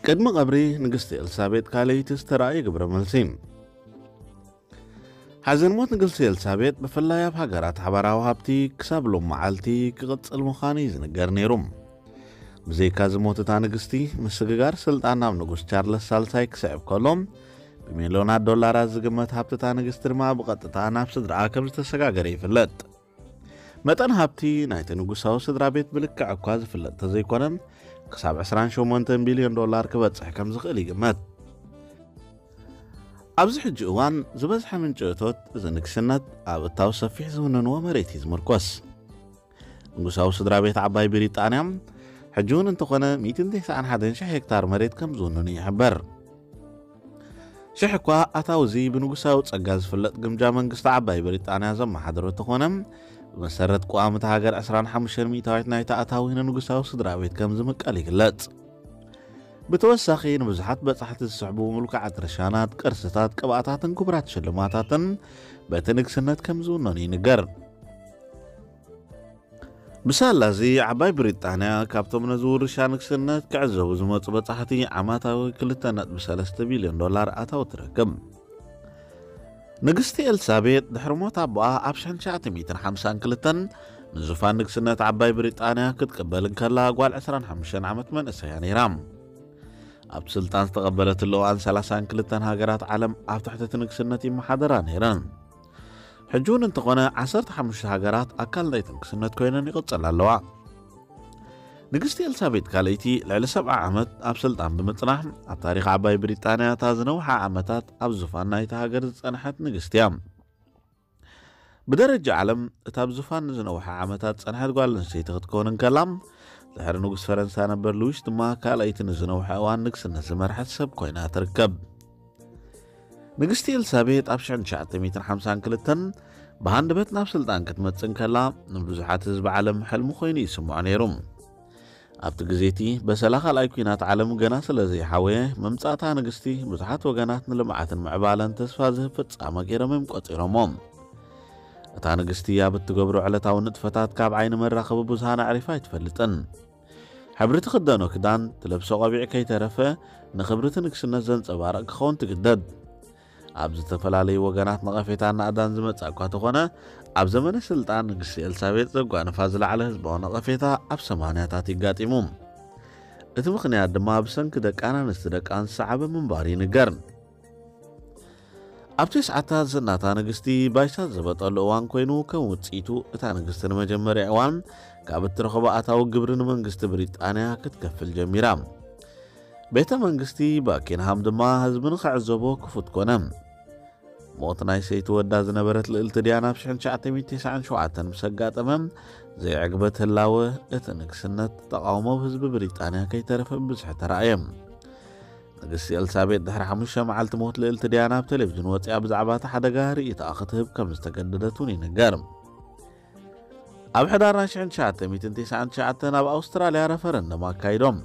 ቅድሚ ቀብሪ ንግስቲ ኤልሳቤጥ ካልኣይቲ ዝተራእየ ግብረ መልሲ። ሓዘን ሞት ንግስቲ ኤልሳቤጥ ብፍላይ ኣብ ሃገራት ሓባራዊ ሃብቲ ክሳብ ሎም መዓልቲ ክቕጽል ምዃኑ እዩ ዝንገር ነይሩ። ብዘይካ እዚ ሞት እታ ንግስቲ፣ ምስግጋር ስልጣን ናብ ንጉስ ቻርለስ ሳልሳይ ክስዕብ ከሎ፣ ብሚልዮናት ዶላራት ዝግመት ሃብቲ እታ ንግስቲ ድማ ብቐጥታ ናብ ስድራኣ ከም ዝተሰጋገረ ይፍለጥ። መጠን ሃብቲ ናይቲ ንጉሳዊ ስድራ ቤት ብልክዕ እኳ ዝፍለጥ ተዘይኮነ፣ ክሳብ ዕስራን ሸሞንተን ቢልዮን ዶላር ክበጽሕ ከም ዝኽእል ይግመት። ኣብዚ ሕጂ እዋን ዝበዝሐ ምንጪ እቶት እዚ ንግስነት ኣብ እታው ሰፊሕ ዝውንንዎ መሬት እዩ ዝምርኮስ። ንጉሳዊ ስድራ ቤት ዓባይ ብሪጣንያ ሕጂ እውን እንተኾነ ሚእትን ተስዓን ሓደን ሽሕ ሄክታር መሬት ከም ዝውንኑ ይሕበር። ሽሕ እኳ ኣታዊ እዚ ብንጉሳዊ ጸጋ ዝፍለጥ ግምጃ መንግስቲ ዓባይ ብሪጣንያ ዘመሓድሮ እንተኾነ፣ ብመሰረት ቅዋም እታ ሃገር ዕስራን ሓሙሽተን ሚእታዊት ናይቲ ኣታዊ ንንጉሳዊ ስድራ ቤት ከም ዝምቀል ይግለጽ። ብተወሳኺ ንብዙሓት በጻሕቲ ዝስሕቡ ምልኩዓት ርሻናት፣ ቅርስታት፣ ቅብኣታትን ክቡራት ሽልማታትን በቲ ንግስነት ከም ዝውነኑ ይንገር። ብሳላ እዚ ዓባይ ብሪጣንያ ካብቶም ነዚ ውርሻ ንግስነት ክዕዘቡ ዝመጹ በጻሕቲ ዓማታዊ ክልተ ነጥቢ ሰለስተ ቢልዮን ዶላር ኣታዊ ትረክብ። ንግስቲ ኤልሳቤጥ ድሕሪ ሞት ኣቦኣ ኣብ ሽሕን ትሽዓተ ሚእትን ሓምሳን ክልተን ንዙፋን ንግስነት ዓባይ ብሪጣንያ ክትቅበል እንከላ ጓል ዕስራን ሓሙሽተን ዓመት መንእሰያ ነይራ። ኣብ ስልጣን ዝተቐበለትሉ እዋን ሰላሳን ክልተን ሃገራት ዓለም ኣብ ትሕቲ እቲ ንግስነት ይመሓደራ ነይረን። ሕጂ እውን እንተኾነ ዓሰርተ ሓሙሽተ ሃገራት ኣካል ናይቲ ንግስነት ኮይነን ይቕጽላ ኣለዋ። ንግስቲ ኤልሳቤጥ ካልኣይቲ ልዕሊ ሰብዓ ዓመት ኣብ ስልጣን ብምጽናሕ ኣብ ታሪኽ ዓባይ ብሪጣንያ እታ ዝነውሓ ዓመታት ኣብ ዙፋን ናይቲ ሃገር ዝጸንሐት ንግስቲ እያ። ብደረጃ ዓለም እታ ኣብ ዙፋን ንዝነውሐ ዓመታት ጸንሐት ጓል ኣንስተይቲ ክትከውን እንከላ፣ ድሕሪ ንጉስ ፈረንሳ ነበር ሉዊስ ድማ ካልኣይቲ ንዝነውሐ እዋን ንግስነት ዝመርሐት ሰብ ኮይና ትርከብ። ንግስቲ ኤልሳቤጥ ኣብ ሽሕን ትሽዓተ ሚእትን ሓምሳን ክልተን ብሃንደበት ናብ ስልጣን ክትመጽእ እንከላ፣ ንብዙሓት ህዝቢ ዓለም ሕልሚ ኮይኑ ይስምዖ ነይሩ። ኣብቲ ግዜ እቲ በሰላ ካልኣይ ኲናት ዓለም ገና ስለ ዘይሓወየ፣ ምምጻእታ ንግስቲ ብዙሓት ወገናት ንልምዓትን ምዕባለን ተስፋ ዝህብ ፍጻመ ገይሮም እዮም ቆጺሮሞ። እታ ንግስቲ ኣብ እትገብሮ ዕለታዊ ንጥፈታት ካብ ዓይኒ መራኸቢ ብዙሃን ኣዕሪፋ ኣይትፈልጥን። ሕብሪ ትኽደኖ ክዳን፣ ትለብሶ ቆቢዕ ከይተረፈ ንኽብሪ እቲ ንግስነት ዘንጸባርቕ ክኸውን ትግደድ። ኣብ ዝተፈላለዩ ወገናት ነቐፌታን ናእዳን ዝመጽእ እኳ ተኾነ፣ ኣብ ዘመነ ስልጣን ንግስቲ ኤልሳቤጥ ዘጓነፋ ዝለዓለ ህዝባዊ ነቐፌታ ኣብ ሰማንያታት ይጋጢሙ። እቲ ምኽንያት ድማ ብሰንኪ ደቂ ኣናንስቲ ደቃን ዝሰዓበ ምንባሩ ይንገር። ኣብ ተስዓታት ዝናታ ንግስቲ ባይሳ ዘበጠሉ እዋን ኮይኑ፣ ከም ውጽኢቱ እታ ንግስቲ ንመጀመርያ እዋን ካብ እትረኽቦ ኣታዊ ግብሪ ንመንግስቲ ብሪጣንያ ክትከፍል ጀሚራ። ቤተ መንግስቲ ባኪንሃም ድማ ህዝቢ ንኽዕዘቦ ክፉት ኮነ። ሞት ናይ ሰይቲ ወዳ ዝነበረት ልእልቲ ዲያና ኣብ ሽሕን ትሽዓተ ሚእትን ተስዓን ሸውዓተን ምስ ኣጋጠመ፣ ዘይዕግበት ህላወ እቲ ንግስነት ተቓውሞ ብህዝቢ ብሪጣንያ ከይተረፈ ብብዝሒ ተራእየ። ንግስቲ ኤልሳቤጥ ድሕሪ ሓሙሽተ መዓልቲ ሞት ልእልቲ ዲያና ኣብ ቴሌቪዥን ወፂኣ ብዛዕባ እቲ ሓደጋ ርእይቶኣ ክትህብ ከም ዝተገደደት እውን ይንገር። ኣብ ሕዳር ናይ ሽሕን ትሽዓተ ሚእትን ተስዓን ትሽዓተን ኣብ ኣውስትራልያ ረፈረንደም ኣካይዶም።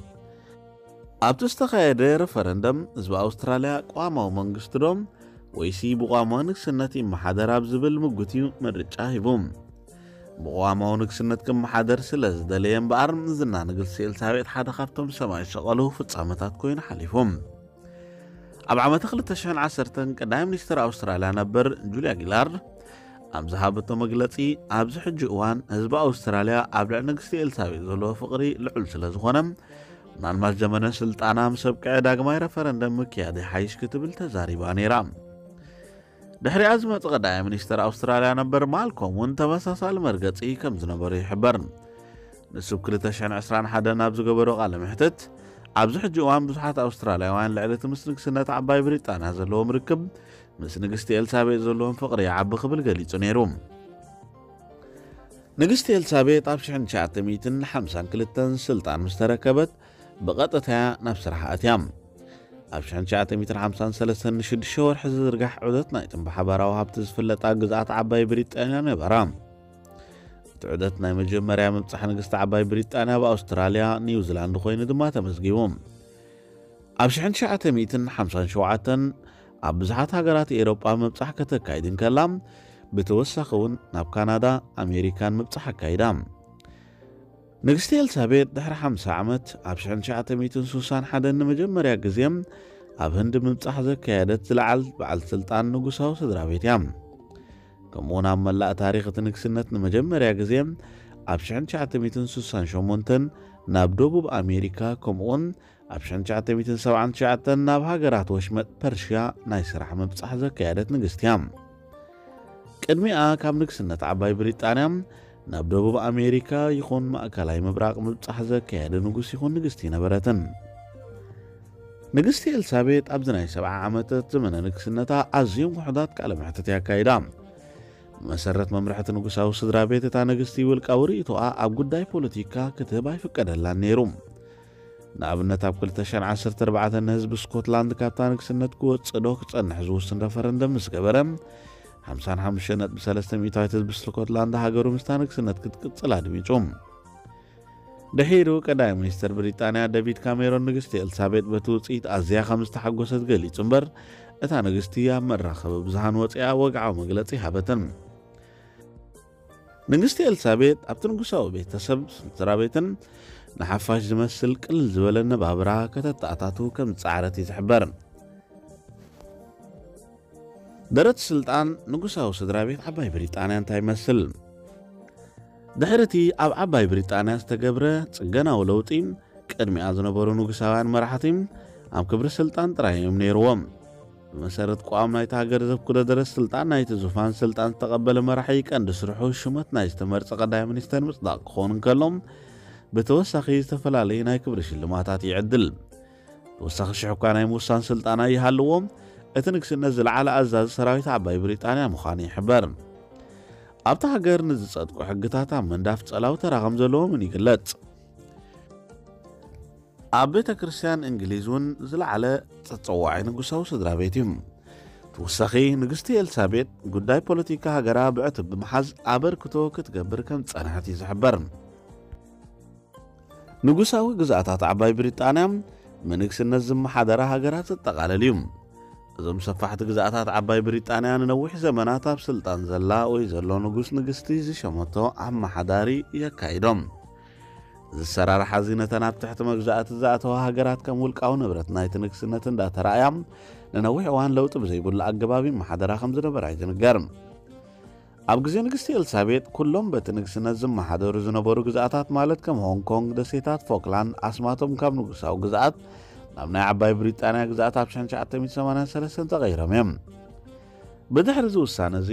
ኣብቲ ዝተኻየደ ረፈረንደም ህዝቢ ኣውስትራልያ ቅዋማዊ መንግስቲ ዶ ወይሲ ብቋማዊ ንግስነት ይመሓደር ኣብ ዝብል ምጉት እዩ ምርጫ ሂቡ። ብቕዋማዊ ንግስነት ክመሓደር ስለ ዝደለየ እምበኣር፣ ዝና ንግስቲ ኤልሳቤጥ ሓደ ካብቶም ሰማይ ዝሸቐሉ ፍጻመታት ኮይኑ ሓሊፉ። ኣብ ዓመተ ክልተ ሽሕን ዓሰርተን ቀዳማይ ሚኒስትር ኣውስትራልያ ነበር ጁልያ ጊላርድ ኣብ ዝሃበቶ መግለጺ፣ ኣብዚ ሕጂ እዋን ህዝቢ ኣውስትራልያ ኣብ ልዕሊ ንግስቲ ኤልሳቤጥ ዘለዎ ፍቕሪ ልዑል ስለ ዝኾነ፣ ምናልባት ዘመነ ስልጣና ምስ ኣብቅዐ ዳግማይ ረፈረንደም ምክያድ ይሓይሽ ክትብል ተዛሪባ ነይራ። ድሕሪኣ ዝመጸ ቀዳማይ ሚኒስትር ኣውስትራልያ ነበር ማልኮም እውን ተመሳሳሊ መርገጺ ከም ዝነበሮ ይሕበር። ንሱ ኣብ ክልተ ሽሕን ዕስራን ሓደን ኣብ ዝገበሮ ቃለ መሕትት፣ ኣብዚ ሕጂ እዋን ብዙሓት ኣውስትራልያውያን ልዕሊ እቲ ምስ ንግስነት ዓባይ ብሪጣንያ ዘለዎም ርክብ፣ ምስ ንግስቲ ኤልሳቤጥ ዘለዎም ፍቕሪ ይዓቢ ክብል ገሊጹ ነይሩ። ንግስቲ ኤልሳቤጥ ኣብ ሽሕን ትሽዓተ ሚእትን ሓምሳን ክልተን ስልጣን ምስ ተረከበት፣ ብቐጥታ እያ ናብ ስራሕ ኣትያ። ኣብ ሽሕን ትሽዓተ ሚእትን ሓምሳን ሰለስተን ንሽዱሽተ ወርሒ ዝዝርጋሕ ዑደት ናይ ጥንቢ ሓባራዊ ሃብቲ ዝፍለጣ ግዝኣት ዓባይ ብሪጣንያ ነበራ። እቲ ዑደት ናይ መጀመርያ ምብጻሕ ንግስቲ ዓባይ ብሪጣንያ ኣብ ኣውስትራልያ፣ ኒውዚላንድ ኮይኑ ድማ ተመዝጊቡ። ኣብ ሽሕን ትሽዓተ ሚእትን ሓምሳን ሸውዓተን ኣብ ብዙሓት ሃገራት ኤውሮጳ ምብጻሕ ከተካይድ እንከላ፣ ብተወሳኺ እውን ናብ ካናዳ፣ ኣሜሪካን ምብጻሕ ኣካይዳ። ንግስቲ ኤልሳቤጥ ድሕሪ ሓምሳ ዓመት ኣብ ሽሕን ትሽዓተ ሚእትን ስሳን ሓደን ንመጀመርያ ግዜ ኣብ ህንዲ ምብጻሕ ዘካየደት ዝለዓል በዓል ስልጣን ንጉሳዊ ስድራ ቤት እያ። ከምኡውን ኣብ መላእ ታሪኽ እቲ ንግስነት ንመጀመርያ ግዜ ኣብ ሽሕን ትሽዓተ ሚእትን ስሳን ሸሞንተን ናብ ደቡብ ኣሜሪካ፣ ከምኡውን ኣብ ሽሕን ትሽዓተ ሚእትን ሰብዓን ትሽዓተን ናብ ሃገራት ወሽመጥ ፐርሽያ ናይ ስራሕ ምብጻሕ ዘካየደት ንግስቲ እያ። ቅድሚኣ ካብ ንግስነት ዓባይ ብሪጣንያ ናብ ደቡብ ኣሜሪካ ይኹን ማእከላይ ምብራቕ ምብጻሕ ዘካየደ ንጉስ ይኹን ንግስቲ ኣይነበረትን። ንግስቲ ኤልሳቤጥ ኣብዚ ናይ ሰብዓ ዓመታት ዘመነ ንግስነታ ኣዝዮም ውሑዳት ቃለ መሕትት እያ ኣካይዳ። ብመሰረት መምርሕቲ ንጉሳዊ ስድራ ቤት፣ እታ ንግስቲ ውልቃዊ ርእይቶኣ ኣብ ጉዳይ ፖለቲካ ክትህብ ኣይፍቀደላን ነይሩ። ንኣብነት፣ ኣብ ክልተ ሽሕን ዓሰርተ ኣርባዕተን ንህዝቢ ስኮትላንድ ካብታ ንግስነት ክወጽእ ዶ ክጸንሕ ዝውስን ረፈረንደም ምስ ገበረ፣ ሓምሳን ሓሙሽተን ነጥቢ ሰለስተ ሚእታዊት ህዝቢ ስኮትላንድ ሃገሩ ምስታ ንግስነት ክትቅጽል ኣድሚጹ። ድሒሩ ቀዳማይ ሚኒስተር ብሪጣንያ ዴቪድ ካሜሮን ንግስቲ ኤልሳቤጥ በቲ ውጽኢት ኣዝያ ከም ዝተሓጎሰት ገሊጹ እምበር፣ እታ ንግስቲ ኣብ መራኸቢ ብዙሃን ወጺኣ ወግዓዊ መግለጺ ሃበትን። ንግስቲ ኤልሳቤጥ ኣብቲ ንጉሳዊ ቤተሰብ ስድራ ቤትን ንሓፋሽ ዝመስል ቅልል ዝበለ ነባብራ ከተተኣታቱ ከም ዝጸዓረት እዩ ዝሕበር። ደረት ስልጣን ንጉሳዊ ስድራ ቤት ዓባይ ብሪጣንያ እንታይ ይመስል? ድሕሪ እቲ ኣብ ዓባይ ብሪጣንያ ዝተገብረ ጽገናዊ ለውጢ፣ ቅድሚኣ ዝነበሩ ንጉሳውያን መራሕቲ ኣብ ክብሪ ስልጣን ጥራይ እዮም ነይርዎም። ብመሰረት ቅዋም ናይቲ ሃገር ዘብኩደ ደረት ስልጣን ናይቲ ዙፋን ስልጣን ዝተቐበለ መራሒ ቀንዲ ስርሑ ሽመት ናይ ዝተመርጸ ቀዳማይ ሚኒስተር ምጽዳቕ ክኸውን እንከሎ፣ ብተወሳኺ ዝተፈላለዩ ናይ ክብሪ ሽልማታት ይዕድል። ተወሳኺ ሽሕ እኳ ናይ ምውሳን ስልጣን ኣይሃልዎ፣ እቲ ንግስነት ዝለዓለ ኣዛዚ ሰራዊት ዓባይ ብሪጣንያ ምዃኑ ይሕበር። ኣብታ ሃገር ንዝጸድቁ ሕግታት ኣብ መንዳፍ ጸላዊ ተራ ከም ዘለዎ እውን ይግለጽ። ኣብ ቤተ ክርስቲያን እንግሊዝ እውን ዝለዓለ ተጸዋዒ ንጉሳዊ ስድራ ቤት እዩ። ተወሳኺ ንግስቲ ኤልሳቤጥ ጉዳይ ፖለቲካ ሃገራ ብዕቱብ ብምሓዝ ኣበርክቶ ክትገብር ከም ዝጸንሐት እዩ ዝሕበር። ንጉሳዊ ግዝኣታት ዓባይ ብሪጣንያ ብንግስነት ዝመሓደራ ሃገራት ዘጠቓልል እዩ። እዞም ሰፋሕቲ ግዝኣታት ዓባይ ብሪጣንያ ንነዊሕ ዘመናት ኣብ ስልጣን ዘላ ወይ ዘሎ ንጉስ ንግስቲ ዝሸመቶ ኣመሓዳሪ የካይዶም። ዝሰራርሓ እዚ ነተን ኣብ ትሕቲ መግዛእቲ ዝኣተዋ ሃገራት ከም ውልቃዊ ንብረት ናይቲ ንግስነት እንዳተራእያ ንነዊሕ እዋን ለውጢ ብዘይብሉ ኣገባብ ይመሓደራ ከም ዝነበራ ይዝንገር። ኣብ ግዜ ንግስቲ ኤልሳቤጥ ኩሎም በቲ ንግስነት ዝመሓደሩ ዝነበሩ ግዝኣታት ማለት ከም ሆንግ ኮንግ፣ ደሴታት ፎክላንድ ኣስማቶም ካብ ንጉሳዊ ግዝኣት ናብ ናይ ዓባይ ብሪጣንያ ግዝኣት ኣብ ሽሕን ትሽዓተ ሚእትን ሰማንያን ሰለስተን ተቐይሮም እዮም። ብድሕሪ እዚ ውሳነ እዚ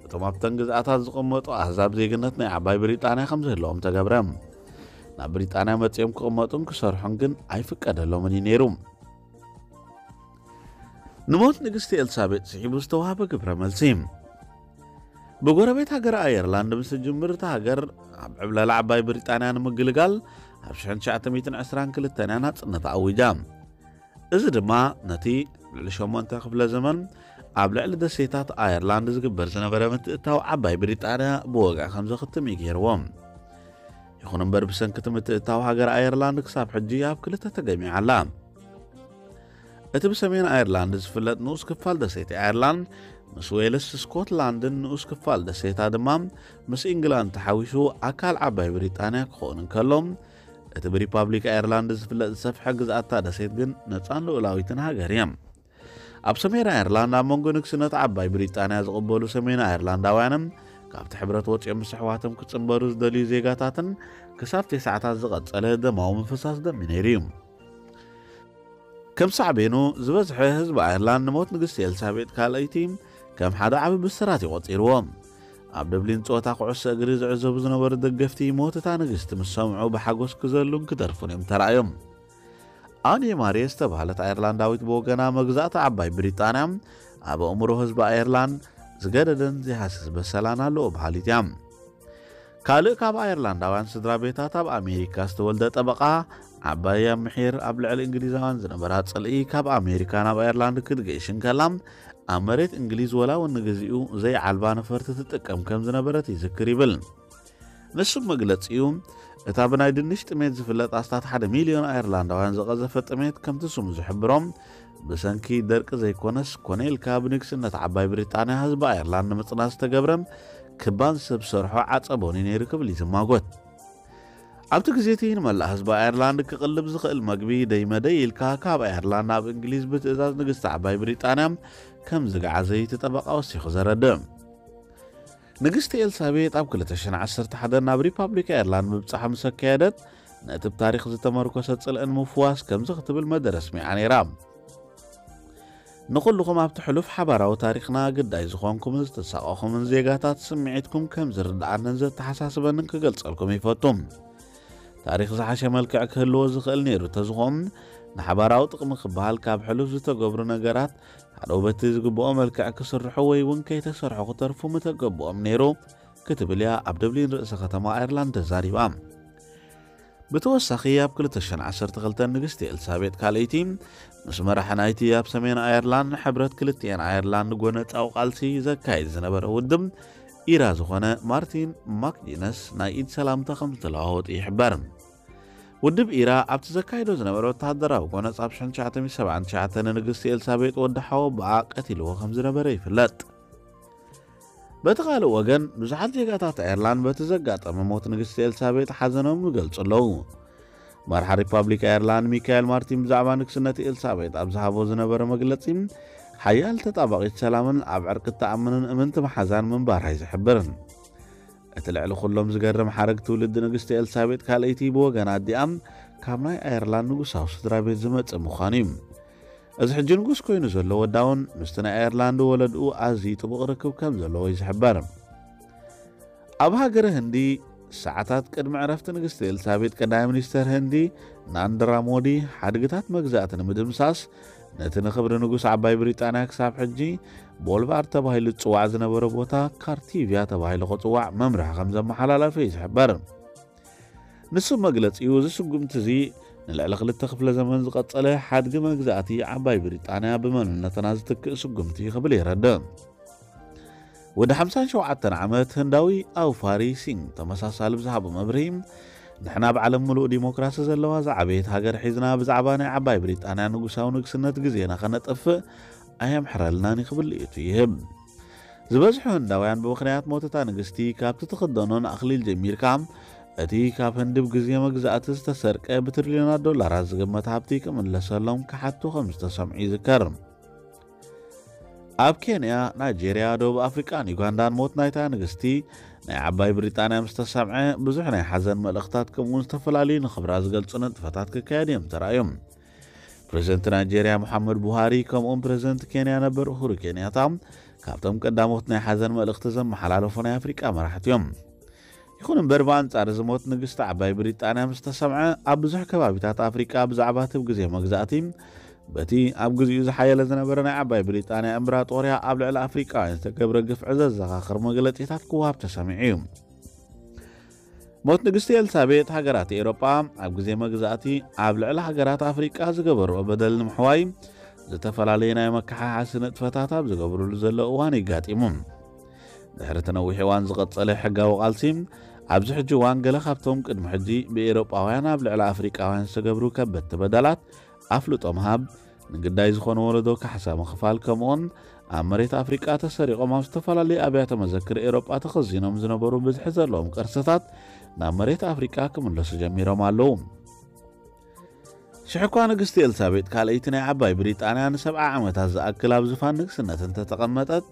እቶም ኣብተን ግዝኣታት ዝቕመጡ ኣህዛብ ዜግነት ናይ ዓባይ ብሪጣንያ ከም ዝህልዎም ተገብረ። ናብ ብሪጣንያ መጺኦም ክቕመጡን ክሰርሑን ግን ኣይፍቀደሎምን እዩ ነይሩ። ንሞት ንግስቲ ኤልሳቤጥ ስዒቡ ዝተዋህበ ግብረ መልሲ። ብጎረቤት ሃገር ኣየርላንድ ምስ ትጅምር፣ እታ ሃገር ኣብ ዕብለላ ዓባይ ብሪጣንያ ንምግልጋል ኣብ ሽሕን ትሽዓተ ሚእትን ዕስራን ክልተን እያ ናጽነታ ኣዊጃ። እዚ ድማ ነቲ ልዕሊ ሸሞንተ ክፍለ ዘመን ኣብ ልዕሊ ደሴታት ኣየርላንድ ዝግበር ዝነበረ ምትእታው ዓባይ ብሪጣንያ ብወግዒ ከም ዘኽትም እዩ ገይርዎ። ይኹን እምበር፣ ብሰንኪ እቲ ምትእታው ሃገር ኣየርላንድ ክሳብ ሕጂ ኣብ ክልተ ተገሚዓ ኣላ። እቲ ብሰሜን ኣየርላንድ ዝፍለጥ ንኡስ ክፋል ደሴት ኣየርላንድ ምስ ዌልስ፣ ስኮትላንድን ንኡስ ክፋል ደሴታ ድማ ምስ ኢንግላንድ ተሓዊሱ ኣካል ዓባይ ብሪጣንያ ክኸውን እንከሎ፣ እቲ ብሪፓብሊክ ኣየርላንድ ዝፍለጥ ዝሰፍሐ ግዝኣታ ደሴት ግን ነጻን ልኡላዊትን ሃገር እያ። ኣብ ሰሜን ኣየርላንድ ኣብ መንጎ ንግስነት ዓባይ ብሪጣንያ ዝቕበሉ ሰሜን ኣየርላንዳውያንን ካብቲ ሕብረት ወጺኦም ምስ ኣሕዋቶም ክጽንበሩ ዝደልዩ ዜጋታትን ክሳብ ተስዓታት ዝቐጸለ ደማዊ ምፍሳስ ደም ነይሩ እዩ። ከም ሳዕቤኑ፣ ዝበዝሐ ህዝቢ ኣየርላንድ ንሞት ንግስቲ ኤልሳቤጥ ካልኣይቲ ከም ሓደ ዓቢ ብስራት እዩ ቆጺርዎ። ኣብ ደብሊን ጸወታ ኩዕሶ እግሪ ዝዕዘቡ ዝነበሩ ደገፍቲ፣ ሞት እታ ንግስቲ ምስ ሰምዑ ብሓጎስ ክዘሉን ክደርፉን እዮም ተራእዮም። ኣን ማሬ ዝተባህለት ኣየርላንዳዊት ብወገና፣ መግዛእቲ ዓባይ ብሪጣንያ ኣብ ኣእምሮ ህዝቢ ኣየርላንድ ዝገደደን ዘይሃስስ በሰላን ኣለዎ በሃሊት እያ። ካልእ ካብ ኣየርላንዳውያን ስድራ ቤታት ኣብ ኣሜሪካ ዝተወልደ ጠበቓ፣ ዓባይ ኣብ ምሒር ኣብ ልዕሊ እንግሊዛውያን ዝነበራ ጽልኢ ካብ ኣሜሪካ ናብ ኣየርላንድ ክትገይሽ እንከላ፣ ኣብ መሬት እንግሊዝ ወላ እውን ንግዚኡ ዘይዓልባ ነፈርቲ ትጥቀም ከም ዝነበረት ይዝክር ይብል። ንሱ መግለጺኡ፣ እታ ብናይ ድንሽ ጥሜት ዝፍለጥ ኣስታት ሓደ ሚልዮን ኣየርላንዳውያን ዝቐዘፈ ጥሜት፣ ከምቲ ስሙ ዝሕብሮ፣ ብሰንኪ ደርቂ ዘይኮነስ፣ ኮነ ኢልካ ብንግስነት ዓባይ ብሪጣንያ ህዝቢ ኣየርላንድ ንምጽናት ዝተገብረ ክባን ሰብ ሰርሖ ዓጸቦን እዩ ነይሩ ክብል ይዝማጎት። ኣብቲ ግዜ እቲ ንመላእ ህዝቢ ኣየርላንድ ክቕልብ ዝኽእል መግቢ ደይመደይ ኢልካ ካብ ኣየርላንድ ናብ እንግሊዝ ብትእዛዝ ንግስቲ ዓባይ ብሪጣንያ ከም ዝገዓዘ እቲ ጠበቓ ወሲኹ ዘረድእ። ንግስቲ ኤልሳቤጥ ኣብ ክልተ ሽሕን ዓሰርተ ሓደን ናብ ሪፓብሊክ ኣየርላንድ ምብጻሕ ምስ ኣካየደት፣ ነቲ ብታሪኽ ዝተመርኮሰ ጽልእን ምፍዋስ ከምዚ ክትብል መደረ ኣስሚዓ ነይራ። ንኹልኹም ኣብቲ ሕሉፍ ሓባራዊ ታሪኽና ግዳይ ዝኾንኩምን ዝተሳቐኹምን ዜጋታት ስምዒትኩም ከም ዝርድኣንን ዘተሓሳስበንን ክገልጸልኩም ይፈቱ። ታሪኽ ዝሓሸ መልክዕ ክህልዎ ዝኽእል ነይሩ ተዝኾም፣ ንሓባራዊ ጥቕሚ ክበሃል ካብ ሕሉፍ ዝተገብሩ ነገራት ሓደው በቲ ዝግብኦ መልክዕ ክስርሑ ወይ እውን ከይተሰርሑ ክተርፉ ምተገብኦም ነይሩ ክትብል እያ ኣብ ደብሊን ርእሰ ከተማ ኣየርላንድ ተዛሪባ። ብተወሳኺ ኣብ ክልተ ሽሕን ዓሰርተ ክልተን ንግስቲ ኤልሳቤጥ ካልኣይቲ ምስ መራሒ ናይቲ ኣብ ሰሜን ኣየርላንድ ሕብረት ክልቲኤን ኣየርላንድ ጎነጻዊ ቃልሲ ዘካይድ ዝነበረ ውድብ ኢራ ዝኾነ ማርቲን ማክጊነስ ናይ ኢድ ሰላምታ ከም ዝተለዋወጡ ይሕበር። ውድብ ኢራ ኣብቲ ዘካይዶ ዝነበረ ወተሃደራዊ ጎነጽ ኣብ ሽሕን ትሽዓተ ሚእትን ሰብዓን ትሽዓተን ንግስቲ ኤልሳቤጥ ወዲ ሓወ ብኣ ቀቲልዎ ከም ዝነበረ ይፍለጥ። በቲ ካልእ ወገን ብዙሓት ዜጋታት ኣየርላንድ በቲ ዘጋጠመ ሞት ንግስቲ ኤልሳቤጥ ሓዘኖም ይገልጹ ኣለዉ። መርሓ ሪፓብሊክ ኣየርላንድ ሚካኤል ማርቲን ብዛዕባ ንግስነት ኤልሳቤጥ ኣብ ዝሃቦ ዝነበረ መግለጺ፣ ሓያል ተጣባቒት ሰላምን ኣብ ዕርቂ እትኣምንን እምንቲ መሓዛን ምንባራ እዩ ዝሕብር። እቲ ልዕሊ ኩሎም ዝገርም ሓረግ ትውልዲ ንግስቲ ኤልሳቤጥ ካልኣይቲ ብወገን ኣዲኣ ካብ ናይ ኣየርላንድ ንጉሳዊ ስድራ ቤት ዝመጽእ ምዃኑ እዩ። እዚ ሕጂ ንጉስ ኮይኑ ዘሎ ወዳውን ምስቲ ናይ ኣየርላንድ ወለድኡ ኣዝዩ ጥቡቕ ርክብ ከም ዘለዎ እዩ ዝሕበር። ኣብ ሃገረ ህንዲ ሰዓታት ቅድሚ ዕረፍቲ ንግስቲ ኤልሳቤጥ ቀዳማይ ሚኒስተር ህንዲ ናንድራ ሞዲ ሓድግታት መግዛእቲ ንምድምሳስ ነቲ ንኽብሪ ንጉስ ዓባይ ብሪጣንያ ክሳብ ሕጂ ቦልቫርድ ተባሂሉ ዝጽዋዕ ዝነበረ ቦታ ካርቲቪያ ተባሂሉ ክጽዋዕ መምርሒ ከም ዘመሓላለፈ እዩ ዝሕበር። ንሱ መግለጺኡ እዚ ስጉምቲ እዚ ንልዕሊ ክልተ ክፍለ ዘመን ዝቐጸለ ሓድጊ መግዛእቲ ዓባይ ብሪጣንያ ብመንነትና ዝትክእ ስጉምቲ ክብል የረድእ። ወዲ ሓምሳን ሸውዓተን ዓመት ህንዳዊ ኣውፋሪ ሲንግ ተመሳሳሊ ብዝሃቦ መብርሂ፣ ንሕና ኣብ ዓለም ምሉእ ዲሞክራሲ ዘለዋ ዝዓበየት ሃገር ሒዝና ብዛዕባ ናይ ዓባይ ብሪጣንያ ንጉሳዊ ንግስነት ግዜና ከነጠፍእ ኣየምሕረልናን እዩ ክብል ልኢቱ ይህብ። ዝበዝሑ ህንዳውያን ብምኽንያት ሞት እታ ንግስቲ ካብቲ ትኽደኖን ኣኽሊል ጀሚርካ እቲ ካብ ህንዲ ብግዜ መግዛእቲ ዝተሰርቀ ብትሪልዮናት ዶላራት ዝግመት ሃብቲ ክምለሰሎም ክሓቱ ከም ዝተሰምዑ ይዝከር። ኣብ ኬንያ፣ ናይጄርያ፣ ደቡብ ኣፍሪቃን ዩጋንዳን ሞት ናይታ ንግስቲ ናይ ዓባይ ብሪጣንያ ምስ ተሰምዐ ብዙሕ ናይ ሓዘን መልእኽታት ከምኡውን ዝተፈላለዩ ንኽብራ ዝገልጹ ንጥፈታት ክካየድ እዮም ተራእዮም። ፕሬዚደንት ናይጄርያ ሙሓመድ ቡሃሪ ከምኡውን ፕሬዚደንት ኬንያ ነበር ኡሁሩ ኬንያታ ካብቶም ቀዳሞት ናይ ሓዘን መልእኽቲ ዘመሓላለፉ ናይ ኣፍሪቃ መራሕቲ እዮም። ይኹን እምበር ብኣንጻር እዚ ሞት ንግስቲ ዓባይ ብሪጣንያ ምስ ተሰምዐ ኣብ ብዙሕ ከባቢታት ኣፍሪቃ ብዛዕባ እቲ ግዜ መግዛእቲ በቲ ኣብ ግዜኡ ዝሓየለ ዝነበረ ናይ ዓባይ ብሪጣንያ እምብራጦርያ ኣብ ልዕሊ ኣፍሪቃውያን ዝተገብረ ግፍዒ ዘዘኻኽር መግለጺታት ክወሃብ ተሰሚዑ እዩ። ሞት ንግስቲ ኤልሳቤጥ ሃገራት ኤውሮጳ ኣብ ግዜ መግዛእቲ ኣብ ልዕሊ ሃገራት ኣፍሪቃ ዝገበርኦ በደል ንምሕዋይ ዝተፈላለዩ ናይ መከሓሓሲ ንጥፈታት ኣብ ዝገብርሉ ዘሎ እዋን ይጋጢሙ። ድሕሪ እቲ ነዊሕ እዋን ዝቐጸለ ሕጋዊ ቃልሲ ኣብዚ ሕጂ እዋን ገለ ካብቶም ቅድሚ ሕጂ ብኤውሮጳውያን ኣብ ልዕሊ ኣፍሪቃውያን ዝተገብሩ ከበድቲ በደላት ኣፍልጦ ምሃብ፣ ንግዳይ ዝኾነ ወለዶ ካሕሳ ምኽፋል ከምኡውን ኣብ መሬት ኣፍሪቃ ተሰሪቖም ኣብ ዝተፈላለዩ ኣብያተ መዘክር ኤውሮጳ ተኸዚኖም ዝነበሩ ብዝሒ ዘለዎም ቅርስታት ናብ መሬት ኣፍሪቃ ክምለሱ ጀሚሮም ኣለዉ። ሽሕ እኳ ንግስቲ ኤልሳቤጥ ካልኣይቲ ናይ ዓባይ ብሪጣንያ ንሰብዓ ዓመታት ዝኣክል ኣብ ዝፋን ንግስነት እንተተቐመጠት፣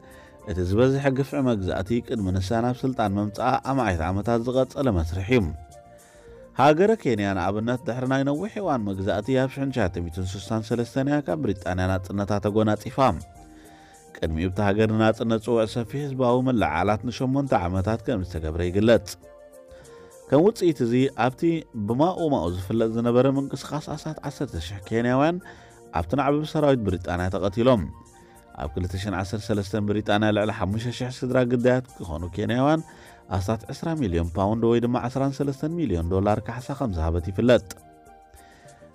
እቲ ዝበዝሐ ግፍዒ መግዛእቲ ቅድሚ ንሳ ናብ ስልጣን ምምጻኣ ኣማኢት ዓመታት ዝቐጸለ መስርሕ እዩ። ሃገረ ኬንያ ንኣብነት ድሕሪ ናይ ነዊሕ እዋን መግዛእቲ ኣብ ሽሕን ትሽዓተ ሚእትን ስሳን ሰለስተን እያ ካብ ብሪጣንያ ናጽነታ ተጎናጺፋ። ቅድሚኡ ኣብታ ሃገር ንናጽነት ጽውዕ ሰፊሕ ህዝባዊ ምልዕዓላት ንሸሞንተ ዓመታት ከም ዝተገብረ ይግለጽ። ከም ውጽኢት እዚ ኣብቲ ብማኡ ማኡ ዝፍለጥ ዝነበረ ምንቅስቓስ ኣስታት ዓሰርተ ሽሕ ኬንያውያን ኣብቲ ናዕቢ ብሰራዊት ብሪጣንያ ተቐቲሎም። ኣብ ክልተ ሽሕን ዓሰርተ ሰለስተን ብሪጣንያ ልዕሊ ሓሙሽተ ሽሕ ስድራ ግዳያት ክኾኑ ኬንያውያን ኣስታት ዕስራ ሚልዮን ፓውንድ ወይ ድማ ዕስራን ሰለስተን ሚልዮን ዶላር ካሕሳ ከም ዝሃበት ይፍለጥ።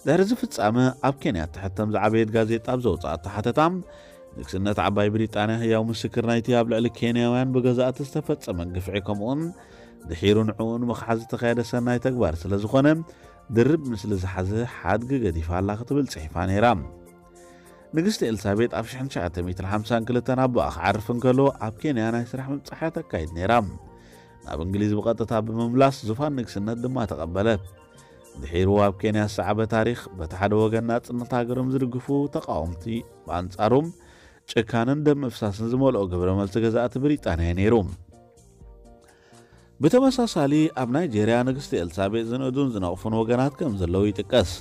ድሕሪ እዚ ፍጻመ ኣብ ኬንያ እትሕተም ዝዓበየት ጋዜጣ ኣብ ዘውጽኣቶ ሓተታ፣ ንግስነት ዓባይ ብሪጣንያ ህያው ምስክር ናይቲ ኣብ ልዕሊ ኬንያውያን ብገዛእቲ ዝተፈጸመ ግፍዒ ከምኡውን ድሒሩ ንዕኡ ንምኽሓስ ዝተኻየደ ሰናይ ተግባር ስለ ዝኾነ ድርብ ምስሊ ዝሓዘ ሓድጊ ገዲፋ ኣላ ክትብል ጽሒፋ ነይራ። ንግስቲ ኤልሳቤጥ ኣብ ሽሕን ትሽዓተ ሚእትን ሓምሳን ክልተን ኣቦኣ ክዓርፍ እንከሎ ኣብ ኬንያ ናይ ስራሕ ምብጻሕ እያ ተካይድ ነይራ። ናብ እንግሊዝ ብቐጥታ ብምምላስ ዙፋን ንግስነት ድማ ተቐበለት። ድሒሩ ኣብ ኬንያ ዝሰዓበ ታሪኽ፣ በቲ ሓደ ወገን ናጽነት ሃገሮም ዝድግፉ ተቓወምቲ፣ ብኣንጻሮም ጭካንን ደም ምፍሳስን ዝመልኦ ግብረ መልሲ ገዛእቲ ብሪጣንያ እዩ ነይሩ። ብተመሳሳሊ ኣብ ናይጄርያ ንግስቲ ኤልሳቤጥ ዝንእዱን ዝነቕፉን ወገናት ከም ዘለዉ ይጥቀስ።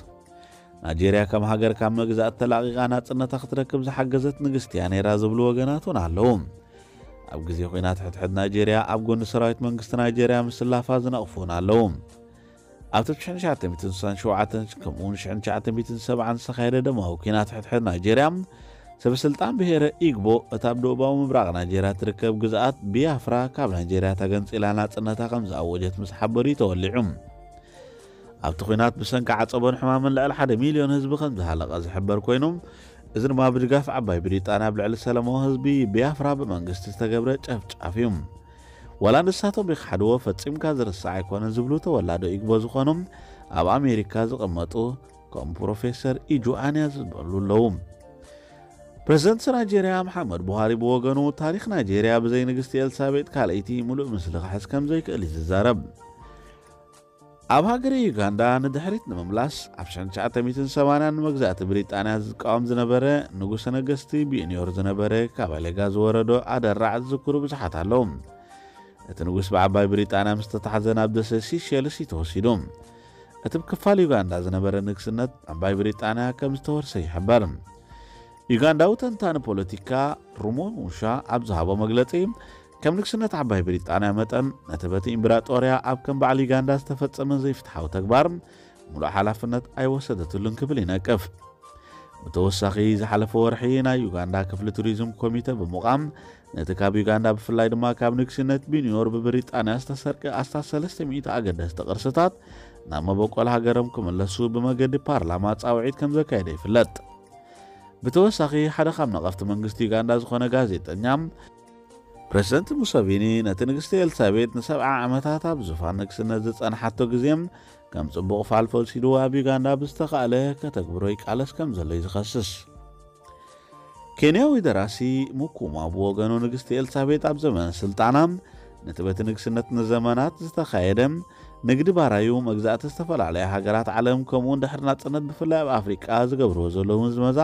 ናይጄርያ ከም ሃገር ካብ መግዛእቲ ተላቒቓ ናጽነታ ክትረክብ ዝሓገዘት ንግስቲ እያ ነይራ ዝብሉ ወገናት እውን ኣለዉ። ኣብ ግዜ ኲናት ሕድሕድ ናይጄርያ ኣብ ጎኒ ሰራዊት መንግስቲ ናይጄርያ ምስላፋ ዝነቕፉ እውን ኣለዉ። ኣብቲ ብ ሽሕን ትሽዓተ ሚእትን ስሳን ሸውዓተን ከምኡውን ሽሕን ትሽዓተ ሚእትን ሰብዓን ዝተኻየደ ደማዊ ኲናት ሕድሕድ ናይጄርያ፣ ሰበስልጣን ብሄረ ኢግቦ እታ ኣብ ደቡባዊ ምብራቕ ናይጄርያ ትርከብ ግዝኣት ቢያፍራ ካብ ናይጄርያ ተገንጺላ ናጽነታ ከም ዝኣወጀት ምስ ሓበሩ እዩ ተወሊዑ። ኣብቲ ኲናት ብሰንኪ ዓጸቦን ሕማምን ልዕሊ ሓደ ሚልዮን ህዝቢ ከም ዝሃለቐ ዝሕበር ኮይኑ፣ እዚ ድማ ብድጋፍ ዓባይ ብሪጣንያ ኣብ ልዕሊ ሰላማዊ ህዝቢ ቢያፍራ ብመንግስቲ ዝተገብረ ጨፍጫፍ እዩ። ዋላ ንሳቶም ይኽሓድዎ፣ ፈጺምካ ዝርሳዕ ኣይኮነን ዝብሉ ተወላዶ ኢግቦ ዝኾኑ ኣብ ኣሜሪካ ዝቕመጡ ከም ፕሮፌሰር ኢጁኣንያ ዝበሉ ኣለዉ። ፕሬዝደንት ናይጄርያ መሓመድ ቡሃሪ ብወገኑ፣ ታሪኽ ናይጄርያ ብዘይ ንግስቲ ኤልሳቤጥ ካልኣይቲ ምሉእ ምስሊ ክሕዝ ከም ዘይክእል እዩ ዝዛረብ። ኣብ ሃገረ ዩጋንዳ ንድሕሪት ንምምላስ፣ ኣብ ሽሕን ትሽዓተ ሚእትን ሰማንያን ንመግዛእቲ ብሪጣንያ ዝቃወም ዝነበረ ንጉሰ ነገስቲ ቢንዮር ዝነበረ ካባሌጋ ዝወረዶ ኣደራዕ ዝዝክሩ ብዙሓት ኣለዉ። እቲ ንጉስ ብዓባይ ብሪጣንያ ምስ ተታሕዘ ናብ ደሴት ሲሸልስ እዩ ተወሲዱ። እቲ ብክፋል ዩጋንዳ ዝነበረ ንግስነት ዓባይ ብሪጣንያ ከም ዝተወርሰ ይሕበር። ዩጋንዳዊ ተንታኒ ፖለቲካ ሩሞ ሙሻ ኣብ ዝሃቦ መግለጺ፣ ከም ንግስነት ዓባይ ብሪጣንያ መጠን ነቲ በቲ ኢምብራጦርያ ኣብ ከም በዓል ዩጋንዳ ዝተፈጸመ ዘይፍትሓዊ ተግባር ምሉእ ሓላፍነት ኣይወሰደትሉን ክብል ይነቅፍ። ብተወሳኺ ዝሓለፈ ወርሒ ናይ ዩጋንዳ ክፍሊ ቱሪዝም ኮሚተ ብምቋም ነቲ ካብ ዩጋንዳ ብፍላይ ድማ ካብ ንግስነት ቢንዮር ብብሪጣንያ ዝተሰርቀ ኣስታት ሰለስተ ሚእቲ ኣገደስቲ ቅርስታት ናብ መበቆል ሃገሮም ክምለሱ ብመገዲ ፓርላማ ጻውዒት ከም ዘካየደ ይፍለጥ። ብተወሳኺ ሓደ ካብ ነቐፍቲ መንግስቲ ዩጋንዳ ዝኾነ ጋዜጠኛ ፕሬዝደንት ሙሰቪኒ ነቲ ንግስቲ ኤልሳቤጥ ንሰብዓ ዓመታት ኣብ ዙፋን ንግስነት ዝጸንሓቶ ግዜ ከም ጽቡቕ ፋልፎ ወሲዱ ኣብ ዩጋንዳ ብዝተኻእለ ከተግብሮ ይቃለስ ከም ዘሎ እዩ ዝኸስስ። ኬንያዊ ደራሲ ሙኩማ ብወገኑ ንግስቲ ኤልሳቤጥ ኣብ ዘመነ ስልጣና ነቲ በቲ ንግስነት ንዘመናት ዝተኻየደ ንግዲ ባራዩ መግዛእቲ ዝተፈላለያ ሃገራት ዓለም ከምኡውን ድሕሪ ናጽነት ብፍላይ ኣብ ኣፍሪቃ ዝገብርዎ ዘለዉ ምዝመዛ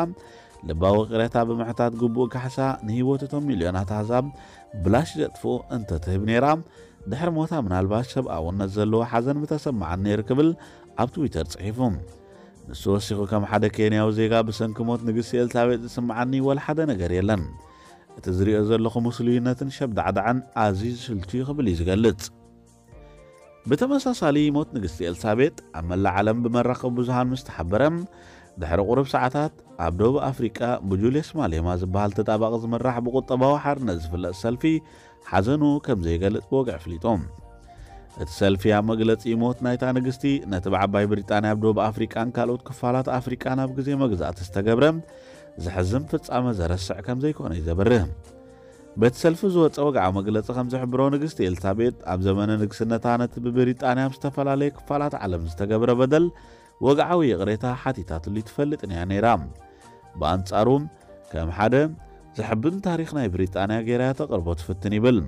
ልባዊ ቅሬታ ብምሕታት ግቡእ ካሕሳ ንህይወት እቶም ሚልዮናት ኣህዛብ ብላሽ ዘጥፍኡ እንተትህብ ነይራ፣ ድሕሪ ሞታ ምናልባት ሰብኣውነት ዘለዎ ሓዘን ምተሰማዓኒ ነይሩ ክብል ኣብ ትዊተር ጽሒፉ። ንሱ ወሲኹ ከም ሓደ ኬንያዊ ዜጋ ብሰንኪ ሞት ንግስቲ ኤልሳቤጥ ዝስምዓኒ ወላ ሓደ ነገር የለን። እቲ ዝሪኦ ዘለኹ ምስሉይነትን ሸብዳዕዳዕን ኣዝዩ ዝስልቹ እዩ ክብል እዩ ዝገልጽ። ብተመሳሳሊ ሞት ንግስቲ ኤልሳቤጥ ኣብ መላእ ዓለም ብመራኸቢ ብዙሃን ምስ ተሓበረ ድሕሪ ቁሩብ ሰዓታት ኣብ ደቡብ ኣፍሪቃ ብጁልየስ ማሌማ ዝበሃል ተጣባቂ ዝምራሕ ብቁጠባዊ ሓርነት ዝፍለጥ ሰልፊ ሓዘኑ ከም ዘይገልጽ ብወግዒ ኣፍሊጡ። እቲ ሰልፊ ኣብ መግለጺ ሞት ናይታ ንግስቲ ነቲ ብዓባይ ብሪጣንያ ኣብ ደቡብ ኣፍሪቃን ካልኦት ክፋላት ኣፍሪቃን ኣብ ግዜ መግዛእቲ ዝተገብረ ዘሕዝን ፍጻመ ዘረስዕ ከም ዘይኮነ እዩ ዘብርህ። በቲ ሰልፊ ዝወጸ ወግዓዊ መግለጺ ከም ዝሕብሮ ንግስቲ ኤልሳቤጥ ኣብ ዘመነ ንግስነታ ነቲ ብብሪጣንያ ኣብ ዝተፈላለየ ክፋላት ዓለም ዝተገብረ በደል ወግዓዊ ይቕሬታ ሓቲታትሉ ትፈልጥን እያ ነይራ። ብኣንጻሩ ከም ሓደ ዘሕብን ታሪኽ ናይ ብሪጣንያ ገይራ እያ ተቕርቦ ትፍትን ይብል።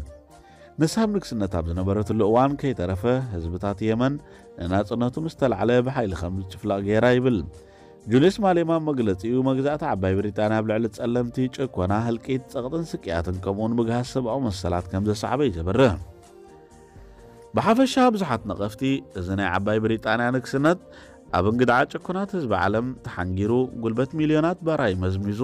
ንሳ ኣብ ንግስነት ኣብ ዝነበረትሉ እዋን ከይተረፈ ህዝብታት የመን ንናጽነቱ ምስ ተላዕለ ብሓይሊ ከም ዝጭፍለቕ ገይራ ይብል። ጁልየስ ማሌማ ኣብ መግለጺኡ መግዛእቲ ዓባይ ብሪጣንያ ኣብ ልዕሊ ጸለምቲ ጭኮና፣ ህልቂት፣ ጸቕጥን ስቅያትን ከምኡውን ምግሃስ ሰብኣዊ መሰላት ከም ዘሰዓበ እዩ ዘብርህ። ብሓፈሻ ብዙሓት ነቐፍቲ እዚ ናይ ዓባይ ብሪጣንያ ንግስነት ኣብ እንግድዓ ጭኩናት ህዝቢ ዓለም ተሓንጊሩ ጉልበት ሚልዮናት ባራይ መዝሚዙ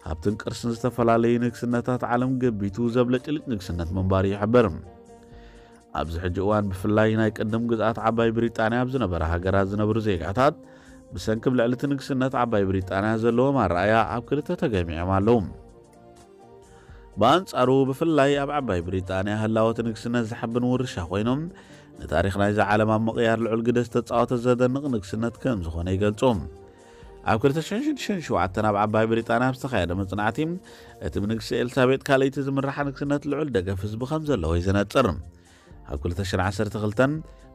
ሃብትን ቅርስን ዝተፈላለዩ ንግስነታት ዓለም ገቢቱ ዘብለጭልጭ ንግስነት ምንባሩ ይሕብር። ኣብዚ ሕጂ እዋን ብፍላይ ናይ ቅድም ግዝኣት ዓባይ ብሪጣንያ ኣብ ዝነበረ ሃገራት ዝነብሩ ዜጋታት ብሰንኪ ኣብ ልዕሊ እቲ ንግስነት ዓባይ ብሪጣንያ ዘለዎም ኣረኣያ ኣብ ክልተ ተገሚዖም ኣለዉ። ብኣንጻሩ ብፍላይ ኣብ ዓባይ ብሪጣንያ ህላወ እቲ ንግስነት ዘሕብን ውርሻ ኮይኖም ንታሪኽ ናይዛ ዓለም ኣብ ምቕያር ልዑል ግደ ዝተጻወተ ዘደንቕ ንግስነት ከም ዝኾነ ይገልጹ። ኣብ ክልተ ሽሕን ሽዱሽተን ሸውዓተን ኣብ ዓባይ ብሪጣንያ ኣብ ዝተኻየደ መጽናዕቲ እቲ ብንግስቲ ኤልሳቤጥ ካልኣይቲ ዝምራሕ ንግስነት ልዑል ደገፍ ህዝቢ ከም ዘለዎ እዩ ዘነጽር። ኣብ ክልተ ሽሕን ዓሰርተ ክልተን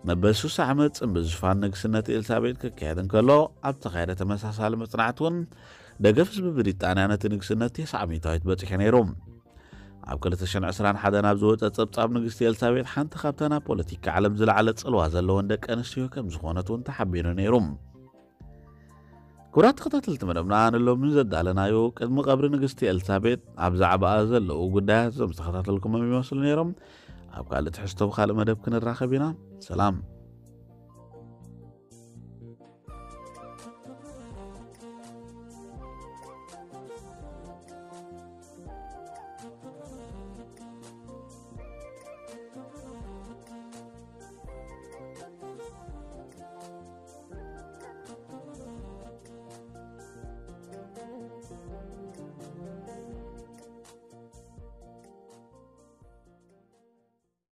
መበል ሱሳ ዓመት ጽምብል ዙፋን ንግስነት ኤልሳቤጥ ክካየድ እንከሎ ኣብ ዝተኻየደ ተመሳሳሊ መጽናዕቲ እውን ደገፍ ህዝቢ ብሪጣንያ ነቲ ንግስነት ተስዓ ሚእታዊት በጺሑ ነይሩ። ኣብ ክልተ ሽሕን ዕስራን ሓደን ኣብ ዝወጸ ጸብጻብ፣ ንግስቲ ኤልሳቤጥ ሓንቲ ካብተን ኣብ ፖለቲካ ዓለም ዝለዓለ ጽልዋ ዘለወን ደቂ ኣንስትዮ ከም ዝኾነት እውን ተሓቢሩ ነይሩ። ክቡራት ተኸታተልቲ መደብና፣ ንሎሚ ዘዳለናዮ ቅድሚ ቀብሪ ንግስቲ ኤልሳቤጥ ኣብ ዛዕባኣ ዘለዉ ጉዳያት እዞም ዝተኸታተልኩሞም ይመስሉ ነይሮም። ኣብ ካልእ ትሕዝቶ ብኻልእ መደብ ክንራኸብ ኢና። ሰላም።